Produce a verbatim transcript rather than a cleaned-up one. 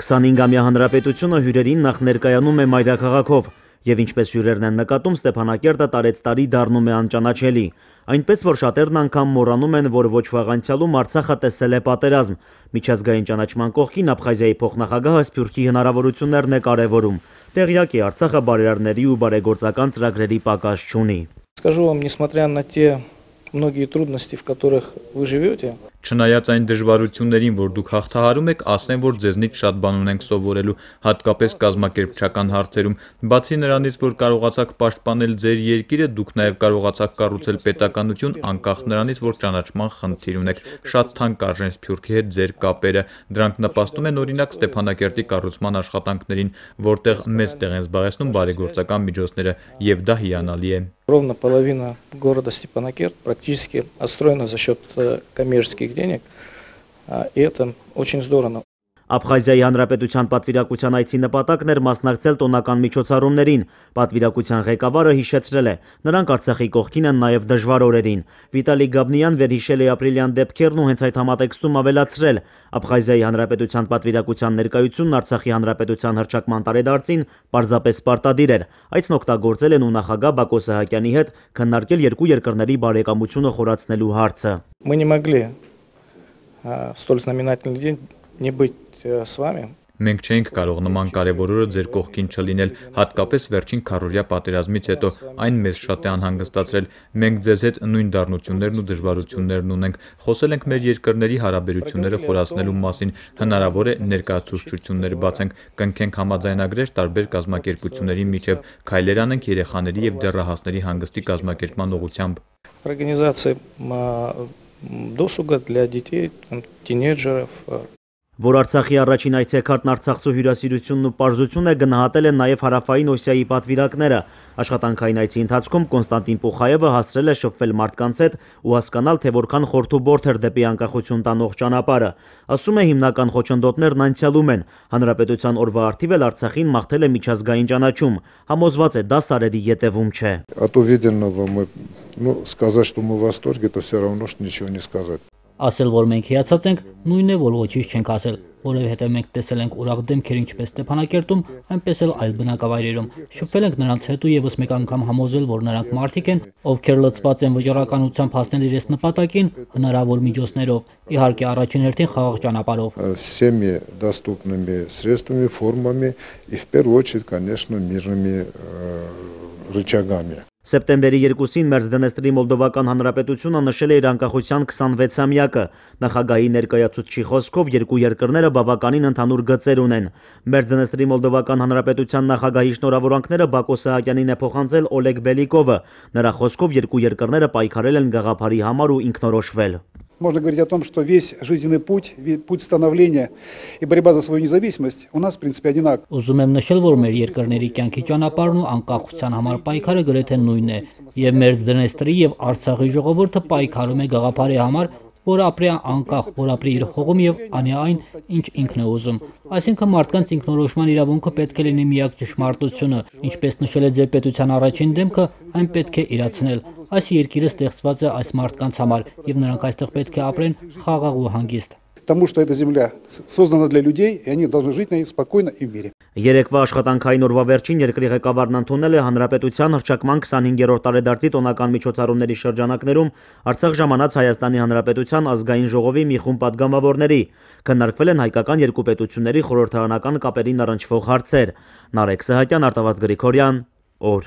քսանհինգամյա հանրապետությունը հյուրերին նախ ներկայանում է մայրաքաղաքով, եւ ինչպես հյուրերն են նկատում, Ստեփանակերտը տարեց տարի դառնում է անճանաչելի, այնպես որ շատերն անգամ մոռանում են, որ ոչ վաղ անցյալում Արցախը տեսել է պատերազմ։ Միջազգային ճանաչման կողքին Աբխազիայի փոխնախագահը Սփյուռքի հնարավորություններն է կարևորում։ Տեղյակ է, Արցախը բարերարների ու բարեգործական ծրագրերի պակաս չունի։ Скажу вам, несмотря на те многие трудности, в которых вы живете, Չնայած այն դժվարություններին, որ դուք հաղթահարում եք, ասեմ, որ ձեզնից շատ բան ունենք սովորելու, հատկապես կազմակերպչական հարցերում։ Բացի նրանից, որ կարողացաք պաշտպանել ձեր երկիրը, դուք նաև կարողացաք կառուցել պետականություն, անկախ նրանից, որ ճանաչման խնդիր ունեք։ Շատ թանկ արժեն Սփյուռքի հետ ձեր կապերը։ Դրանք նպաստում են օրինակ Ստեփանակերտի կառուցման աշխատանքներին, որտեղ մեծ տեղ են զբաղեցնում բարեգործական միջոցները, եւ դա հիանալի է։ Ровно половина города Степанакерт практически отстроена за счет коммерческих денег, и это очень здорово. Աբխազիայի հանրապետության պատվիրակության այցի նպատակն էր մասնակցել տոնական միջոցառումներին։ Պատվիրակության ղեկավարը հիշեցրել է, նրանք Արցախի կողքին են նաև դժվար օրերին։ Վիտալի Գաբնյան վերհիշել է ապրիլյան դեպքերն ու հենց այդ համատեքստում ավելացրել. Աբխազիայի հանրապետության պատվիրակության ներկայությունն Արցախի հանրապետության հռչակման տարեդարձին պարզապես պարտադիր էր։ Այցն օգտագործել են ու նախագահ Բակո Սահակյանի հետ քննարկել երկու երկրների բարեկամությունը խորացնելու հարցը։ Мы не могли в столь знаменательный день не быть с вами. Մենք չենք կարող նման կարևոր օրը ձեր կողքին չլինել, հատկապես վերջին քառօրյա պատերազմից հետո, այն մեզ շատ է անհանգստացրել։ Մենք ձեզ հետ նույն դառնություններն ու դժվարություններն ունենք։ Խոսել ենք մեր երկրների հարաբերությունները խորացնելու մասին, հնարավոր է ներկայացուցչություններ բացենք, կնքենք համաձայնագրեր տարբեր կազմակերպությունների միջև, քայլեր անենք երեխաների եւ դեռահասների հանգստի կազմակերպման ուղղությամբ։ Организация досуга для детей, тинейджеров. Որ Արցախի առաջին այցեքարտն Արցախցու հյուրասիրությունն ու պարզություն է, գնահատել են նաև Հարավային Օսիայի պատվիրակները։ Աշխատանքային այցի ընթացքում Կոնստանտին Պուխայևը հասցրել է շփվել մարդկանց հետ ու հասկանալ, թե որքան խորթուբորթ էր դեպի անկախություն տանող ճանապարհը։ Ասում է, հիմնական խոչընդոտներն անցյալում են։ Հանրապետության օրվա արդիվ էլ Արցախին մաղթել է միջազգային ճանաչում։ Համոզված է, դա սարերի ետևում չէ։ От увиденного мы, ну, сказать, что мы в восторге, это все равно, что ничего не сказать. Ասել, որ մենք հիացած ենք, նույնն է, որ ոչինչ չենք ասել, որովհետև մենք տեսել ենք ուրախ դեմքեր ինչպես Ստեփանակերտում, այնպես էլ այլ բնակավայրերում։ Շփվել ենք նրանց հետ ու եւս մեկ անգամ համոզել, որ նրանք մարդիկ են, ովքեր լծված են վճռականությամբ հասնել իրենց նպատակին հնարավոր միջոցներով, իհարկե առաջին հերթին խաղաղ ճանապարհով։ Всеми доступными средствами, формами и в первую очередь, конечно, мирными рычагами. Սեպտեմբերի երկուսին Մերձդնեստրի Մոլդովական Հանրապետությունը նշել է իր անկախության քսանվեցամյակը։ Նախագահի ներկայացուցչի խոսքով երկու երկրները բավականին ընդհանուր գծեր ունեն։ Մերձդնեստրի Մոլդովական Հանրապետության նախագահի շնորհավորանքները Բակո Սահակյանին է փոխանցել Օլեգ Բելիկովը։ Նրա խոսքով երկու երկրները պայքարել են գաղափարի համար ու ինքնորոշվել։ Можно говорить о том, что весь жизненный путь, путь становления и борьба за свою независимость у нас, в принципе, одинаков. Ուզում եմ նշել, որ մեր երկրների կյանքի ճանապարհն ու անկախության համար պայքարը գրեթե նույնն է, եւ Մերձդնեստրի եւ Արցախի ժողովուրդը պայքարում է գաղափարի համար, որ ապրի անկախ, որ ապրի իր հողում եւ անի այն, ինչ ինքն է ուզում։ Այսինքն մարդկանց ինքնորոշման իրավունքը պետք է լինի միակ ճշմարտությունը, ինչպես нշել է ձեր պետության առաջին դեմքը, այն պետք է իրացնել։ Այս երկիրը ստեղծված է այս մարդկանց համար եւ նրանք այստեղ պետք է ապրեն խաղաղ ու հանգիստ։ Потому что эта земля создана для людей, и они должны жить на ней спокойно и в мире. Երեկվա աշխատանքային օրվա վերջին երկրի ղեկավարն ընդունել է հանրապետության հռչակման քսանհինգերորդ տարեդարձի տոնական միջոցառումների շրջանակներում Արցախ ժամանած Հայաստանի Հանրապետության ազգային ժողովի մի խումբ պատգամավորների։ Քննարկվել են հայկական երկու պետությունների խորհրդարանական կապերին առնչվող հարցեր։ Նարեկ Սահակյան, Արտավազդ Գրիգորյան, օր